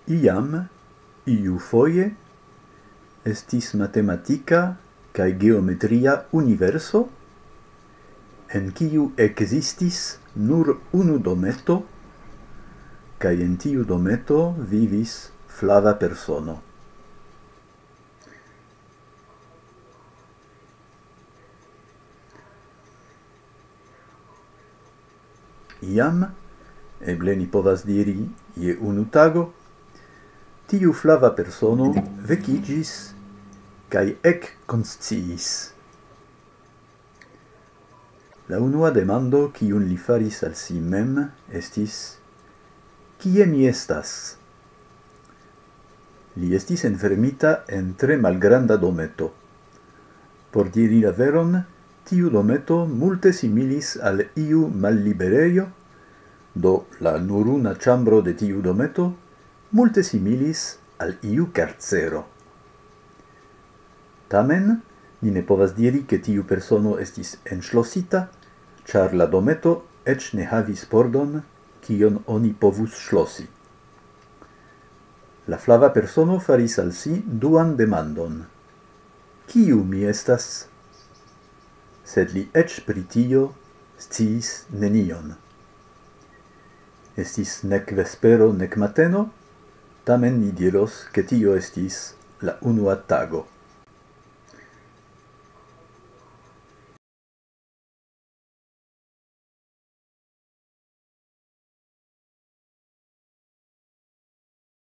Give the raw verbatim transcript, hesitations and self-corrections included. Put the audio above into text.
Iam, iufoje, estis matematika kaj geometria universo, en kiu ekzistis nur unu dometo, kaj en tiu dometo vivis flava persono. Iam, eble ni povas diri je unu tago, tiu flava persono vekiĝis kaj ekkonsciis. La unua demando, kiun li faris al si mem, estis: "Kie mi estas?" Li estis enfermita en tre malgranda dometo. Por diri la veron, tiu dometo multe similis al iu malliberejo, do la nuruna ĉambro de tiu dometo multe similis al iu karcero. Tamen, ni ne povas diri, ke tiu persono estis enŝlosita, ĉar la dometo eĉ ne havis pordon, kion oni povus ŝlosi. La flava persono faris al si duan demandon: "Kiu mi estas?" Sed li eĉ pri tio sciis nenion. Estis nek vespero, nek mateno, tamen ni diros, ke tio estis la unua tago.